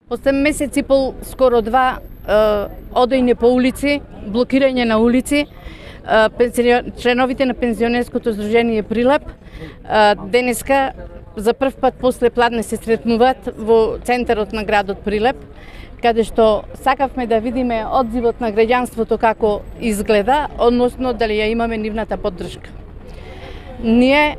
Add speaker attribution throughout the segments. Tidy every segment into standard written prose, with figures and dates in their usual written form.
Speaker 1: После месец и пол, скоро два, одење по улици, блокирање на улици, членовите на пензионерското здружение Прилеп денеска за прв пат после пладне се сретнуваат во центарот на градот Прилеп, каде што сакавме да видиме одзивот на граѓанството како изгледа, односно дали ја имаме нивната поддршка. Ние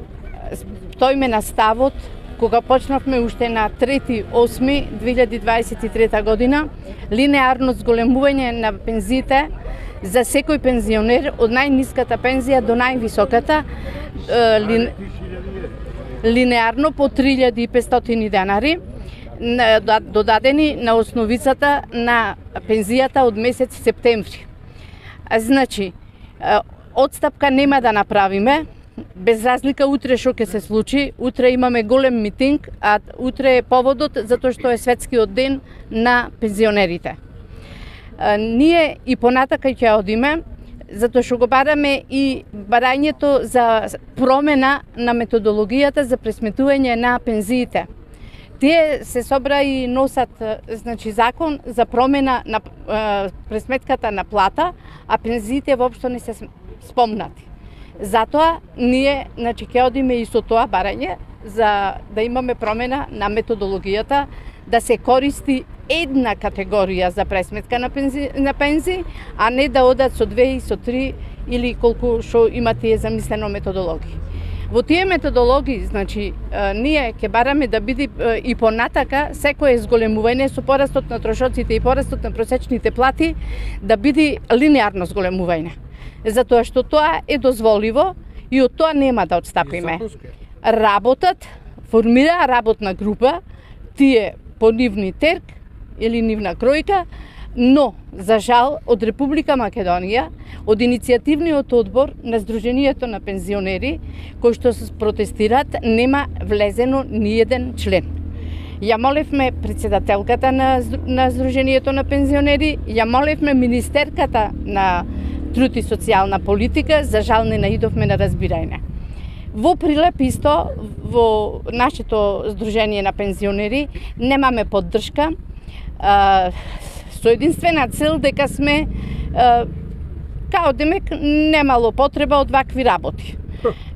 Speaker 1: стоиме на ставот кога почнавме уште на 3.8.2023 година линеарно зголемување на пензиите за секој пензионер од најниската пензија до највисоката, линеарно по 3.500 денари, додадени на основицата на пензијата од месец септември. Значи, одстапка нема да направиме, без разлика утре што ќе се случи. Утре имаме голем митинг, а утре е поводот затоа што е светскиот ден на пензионерите. Ние и понатака ќе одиме, затоа што го бараме и барањето за промена на методологијата за пресметување на пензиите. Тие се собра и носат закон за промена на пресметката на плата, а пензиите воопшто не се спомнати. Затоа ние ќе одиме и со тоа барање за да имаме промена на методологијата, да се користи една категорија за пресметка на пензии, а не да одат со 2 и со 3 или колку што има тие замислено методологии. Во тие методологии, ние ќе бараме да биде и понатака секое зголемување со порастот на трошоците и порастот на просечните плати да биде линеарно зголемување. Затоа што тоа е дозволиво и од тоа нема да отстапиме. Работат, формира работна група, тие по нивни терк или нивна кројка, но, за жал, од Република Македонија, од иницијативниот одбор на Сдруженијето на пензионери, кои што се протестираат, нема влезено ниеден член. Ја молевме председателката на Сдруженијето на пензионери, ја молевме министерката на труд и социјална политика, за жал не наидовме на разбирање. Во Прилеп исто, во нашето Сдружение на пензионери, немаме поддршка, со единствена цел дека сме, као демек, немало потреба од вакви работи.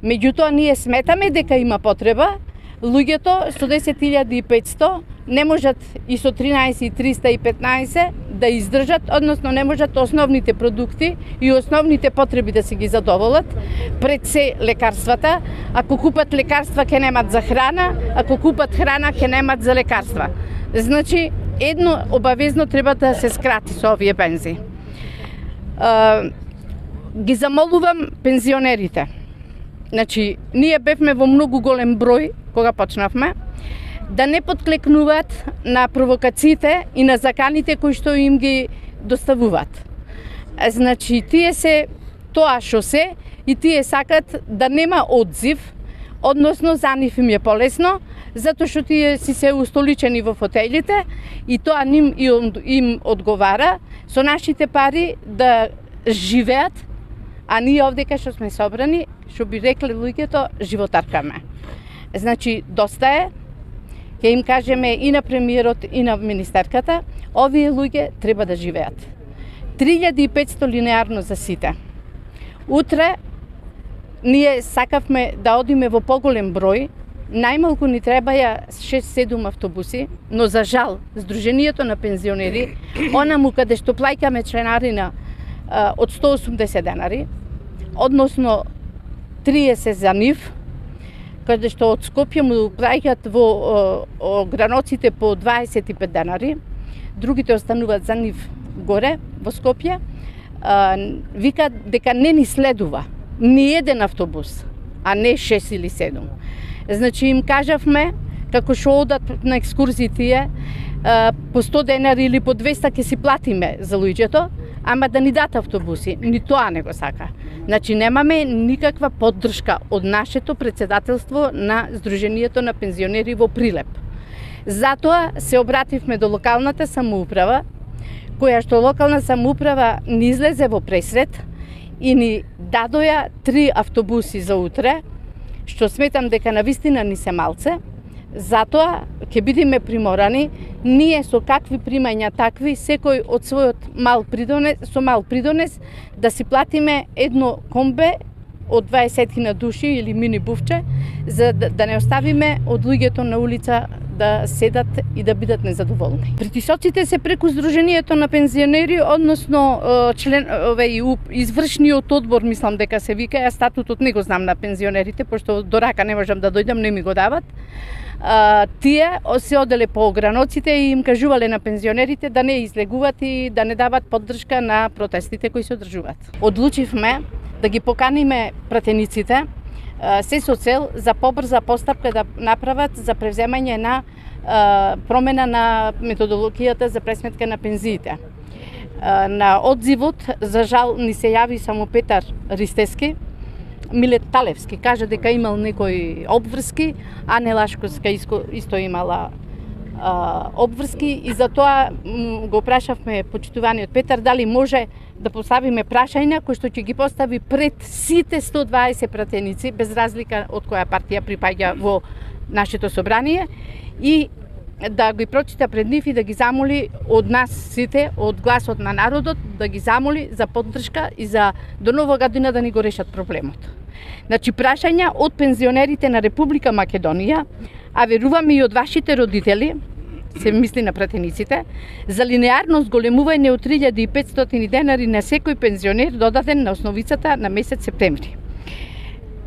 Speaker 1: Меѓутоа, ние сметаме дека има потреба, луѓето со 10.500 не можат и со 13.315 да издржат, односно не можат основните продукти и основните потреби да се ги задоволат, пред се лекарствата. Ако купат лекарства, ќе немат за храна, ако купат храна, ќе немат за лекарства. Значи, едно обавезно треба да се скрати со овие пензии. Ги замолувам пензионерите. Значи, ние бевме во многу голем број кога почнавме, да не подклекнуваат на провокациите и на заканите кои што им ги доставуваат. Значи, тие се тоа што се и тие сакат да нема одзив, односно за нив им е полесно, затоа што тие си се устоличени во фотелите и тоа им одговара со нашите пари да живеат, а ние овдека што сме собрани, што би рекле луѓето, животаркаме. Значи, доста е, ќе им кажеме и на премиерот и на министерката, овие луѓе треба да живеат. 3.500 линеарно за сите. Утре ние сакавме да одиме во поголем број, најмалку ни требаја 6-7 автобуси, но за жал, Сдруженијето на пензионери, онаму каде што плаќаме членарина од 180 денари, односно 30 за нив, каде што од Скопје му плаќаат во граноците по 25 денари, другите остануваат за нив горе во Скопје, вика дека не ни следува ни еден автобус, а не 6 или 7. Значи им кажавме, како што одат на екскурзии тие, по 100 денари или по 200 ќе си платиме за луѓето, ама да ни дат автобуси, ни тоа не го сака. Значи немаме никаква поддршка од нашето председателство на Сдруженијето на пензионери во Прилеп. Затоа се обративме до локалната самоуправа, која што локална самоуправа ни излезе во пресрет и ни дадоја 3 автобуси за утре, што сметам дека навистина ни се малце, Затоа ќе бидеме приморани, ние со какви примања такви, секој од својот мал придонес да си платиме едно комбе од 20.000 души или мини буфче, за да не оставиме од луѓето на улица да седат и да бидат незадоволни. Притисоците се преку Сдруженијето на пензионери, односно извршниот одбор, мислам дека се вика, ја статутот не го знам на пензионерите, пошто до рака не можам да дојдам, не ми го дават. Тие се оделе по ограноците и им кажувале на пензионерите да не излегуват и да не дават поддршка на протестите кои се одржуваат. Одлучивме да ги поканиме пратениците, се со цел за побрза постапка да направат за превземање на промена на методологијата за пресметка на пензиите. На одзивот, за жал, ни се јави само Петар Ристески. Милет Талевски кажа дека имал некои обврски, а Нелашковска исто имала обврски и затоа го прашавме почитуваниот Петар дали може да поставиме прашања кои што ќе ги постави пред сите 120 пратеници, без разлика од која партија припаѓа во нашето собрание, и да ги прочита пред нив и да ги замоли од нас сите, од гласот на народот, да ги замоли за поддршка и за до нова година да ни го решат проблемот. Значи, прашања од пензионерите на Република Македонија, а веруваме и од вашите родители, се мисли на пратениците, за линеарно зголемување од 3500 денари на секој пензионер додаден на основицата на месец септември.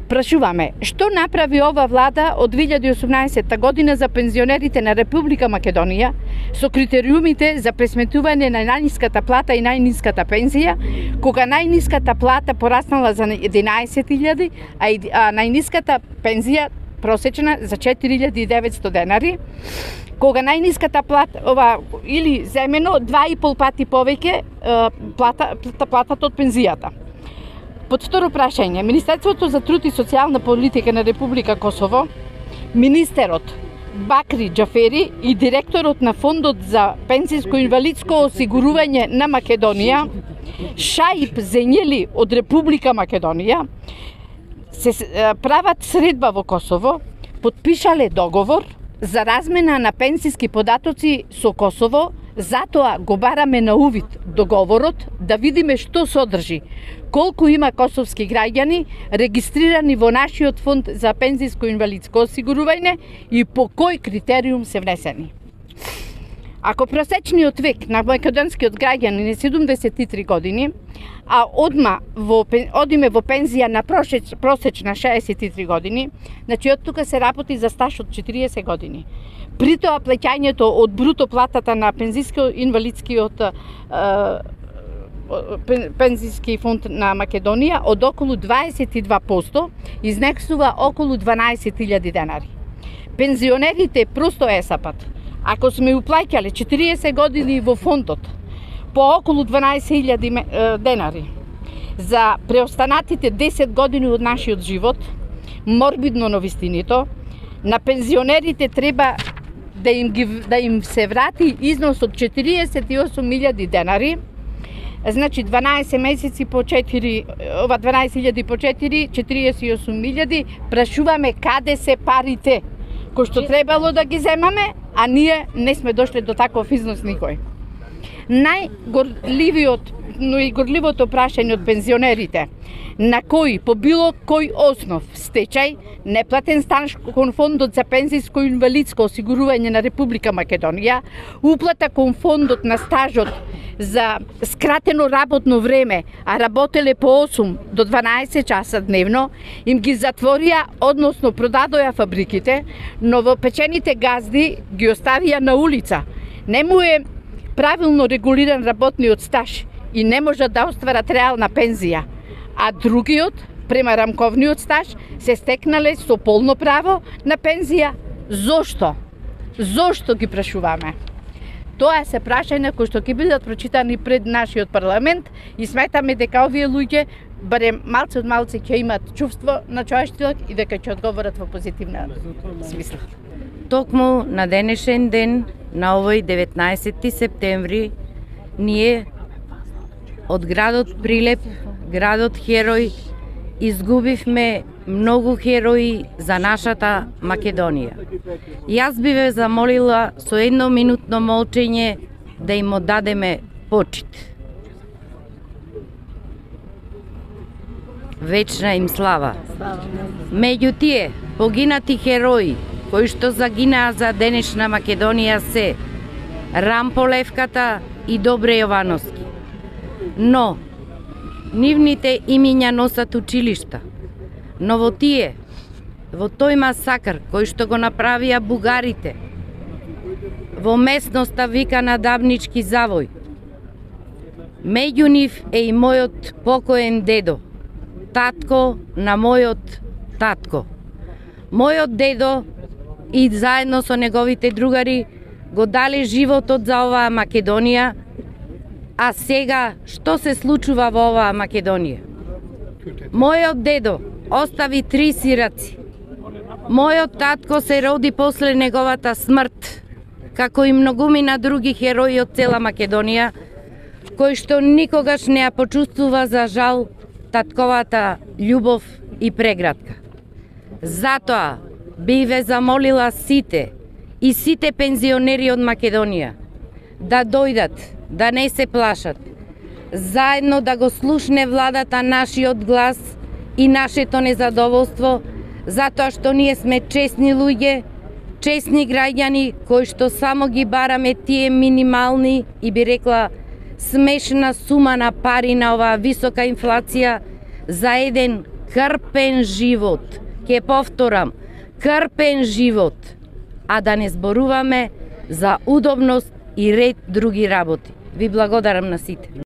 Speaker 1: Прашуваме, што направи ова влада од 2018 година за пензионерите на Република Македонија со критериумите за пресметување на најниската плата и најниската пензија, кога најниската плата пораснала за 11.000, а најниската пензија просечна за 4.900 денари, кога најниската плата, или земено 2,5 пати повеќе платата од пензијата. Под второ прашање, Министерството за труд и социјална политика на Република Косово, министерот Бакри Џафери и директорот на Фондот за пензиско-инвалидско осигурување на Македонија, Шаип Зенјели од Република Македонија, се прават средба во Косово, подпишале договор за размена на пензиски податоци со Косово, затоа го бараме на увид договорот да видиме што содржи, колку има косовски граѓани регистрирани во нашиот фонд за пензиско-инвалидско осигурување и по кој критериум се внесени. Ако просечниот век на македонскиот граѓанин е 73 години, а одиме во пензија на просечна 63 години, значи од тука се работи за стаж од 40 години. При тоа плеќањето од бруто платата на пензиско-инвалидскиот пензиски фонд на Македонија од околу 22% изнесува околу 12.000 денари. Пензионерите просто есапат. Ако сме уплаќале 40 години во фондот по околу 12.000 денари за преостанатите 10 години од нашиот живот, морбидно новистинито, на пензионерите треба да им се врати износ од 48.000 денари, значи 12 месеци по 4, ова 12.000 по 4, 48.000, прашуваме каде се парите кои што требало да ги земаме, а ние не сме дошле до таков износ никој. Но и горливото прашање од пензионерите, на кои по било кој основ, стечај, неплатен стаж кон фондот за пензиско-инвалидско осигурување на Република Македонија, уплата кон фондот на стажот за скратено работно време, а работеле по 8 до 12 часа дневно, им ги затворија, односно продадоја фабриките, новопечените газди ги оставија на улица. Не му е правилно регулиран работниот стаж и не можат да остварат реална пензија, а другиот, према рамковниот стаж, се стекнале со полно право на пензија. Зошто? Зошто ги прашуваме? Тоа се прашања кои што ќе бидат прочитани пред нашиот парламент и сметаме дека овие луѓе барем малце од малце ќе имат чувство на човештилок и дека ќе одговорат во позитивна смисла.
Speaker 2: Токму на денешен ден, на овој 19 септември, ние од градот Прилеп, градот Херој изгубивме многу херои за нашата Македонија. Јас би ве замолила со едноминутно молчење да им одадеме почит. Вечна им слава. Меѓу тие погинати херои кои што загинаа за денешна Македонија се Рампо Левката и Добре Јовановски. Но нивните имиња носат училишта. Но во тој масакр кој што го направија бугарите во местноста викана Дабнички завој, меѓу нив е и мојот покоен дедо, татко на мојот татко. Мојот дедо и заедно со неговите другари го дали животот за оваа Македонија, а сега што се случува во оваа Македонија? Мојот дедо остави 3 сираци. Мојот татко се роди после неговата смрт, како и многумина други херои од цела Македонија, кои што никогаш не ја почувствува за жал татковата љубов и преградка. Затоа би ве замолила сите и сите пензионери од Македонија да дојдат, да не се плашат, заедно да го слушне владата нашиот глас и нашето незадоволство, затоа што ние сме честни луѓе, честни граѓани кои што само ги бараме тие минимални и би рекла смешна сума на пари на оваа висока инфлација за еден крпен живот. Ке повторам, крпен живот, а да не зборуваме за удобност и ред други работи. Ви благодарам на сите.